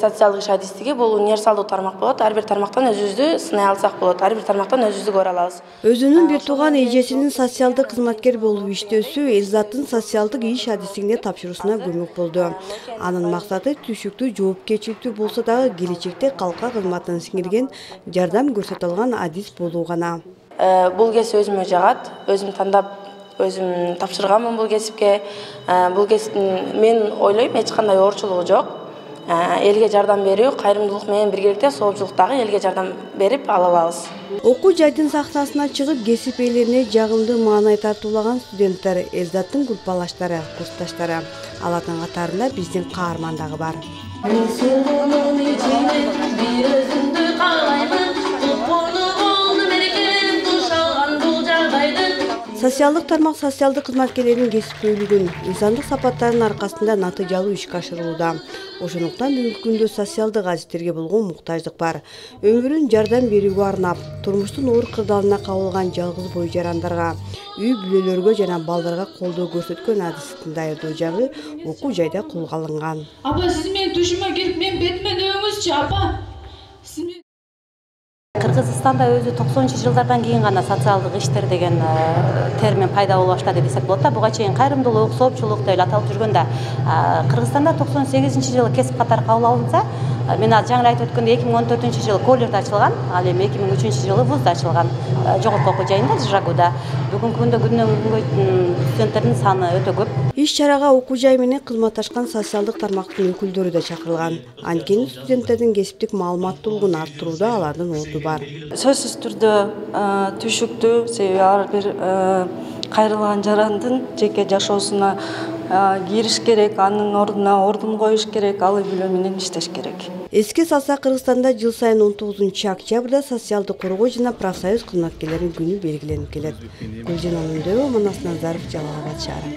Социалдык иш адистиги бул универсалдуу тармак болот. Ар бир тармактан өзүбүздү сынай алсак болот. Ар бир тармактан өзүбүздү көрө алабыз. Өзүнүн бир тууган эжесинин социалдык кызматкер болуп иштөөсү Элзаттын социалдык иш адистигине тапшыруусуна көмөк болду. Анын максаты түшүктүү, жоопкерчиликтүү болсо дагы келечекте калкка кызматын сиңирген, жардам көрсөтө алган адис болуу гана. Бул кесип өзүмө жагат. Өзүм тандап, өзүм тапшырганмын бул кесипке. Бул кесиптин мен ойлойм эч кандай оорчулугу жок. Элге жардам берүү, кайрымдуулук менен биргеликте соопчулук дагы элге жардам берип ала алабыз. Окуу жайдын сахнасына чыгып, кесип ээлерине жагымдуу маанай тартуулаган студенттер, Элзаттын группалаштары, курсташтары. Алардын катарында биздин каарман дагы бар. Социалдык тармак социалдык кызматкерлердин кесиптүүлүгүн, инсандык сапаттарынын аркасында натыйжалуу ишке ашырылууда. Ошондуктан бүгүнкү күндө социалдык адистерге болгон муктаждык бар. Өмүрүн жардам берүүгө арнап, турмуштун оор кырдаалына кабылган жалгыз бой жарандарга, үй бүлөлөргө жана балдарга колдоо көрсөткөн адисти даярдоо жагы окуу жайда колго алынган. Апа, сиз менин тушума кирип, мен бетиме дөөңүзчү, апа. Кыргызстанда өзү 90-жылдардан кийин гана социалдык иштер деген термин пайда боло баштады десек болот да. Буга чейин кайрымдуулук, соопчулук деп эле аталып жүргөн да. Кыргызстанда 98-жылы кесип катары кабыл алынса, мен жаңы айтып өткөндөй 2014-жылы коллежде ачылган, ал эми 2003-жылы вузда ачылган, жогорку окуу жайында Жырагуда. Бүгүнкү күндө күндөн күнгө студенттердин саны өтө көп. Иш чарага окуу жай менен кызматташкан социалдык тармактын өкүлдөрү да чакырылган. Анткени студенттердин кесиптик маалыматтуулугун арттырууда алардын орду бар. Сөзсүз түрдө түшүктүү, себеби ар бир кайрылган жарандын жеке жашоосуна кириш керек, анын ордуна ордун коюш керек, ал үй бүлө менен иштеш керек. Эске салсак, Кыргызстанда жыл сайын 19-октябрда социалдык коргоо жана профсоюз кызматкерлеринин күнү белгиленип келет. Гүлжан Анандөрова, Манас Назаров, Жалал Абад шаары.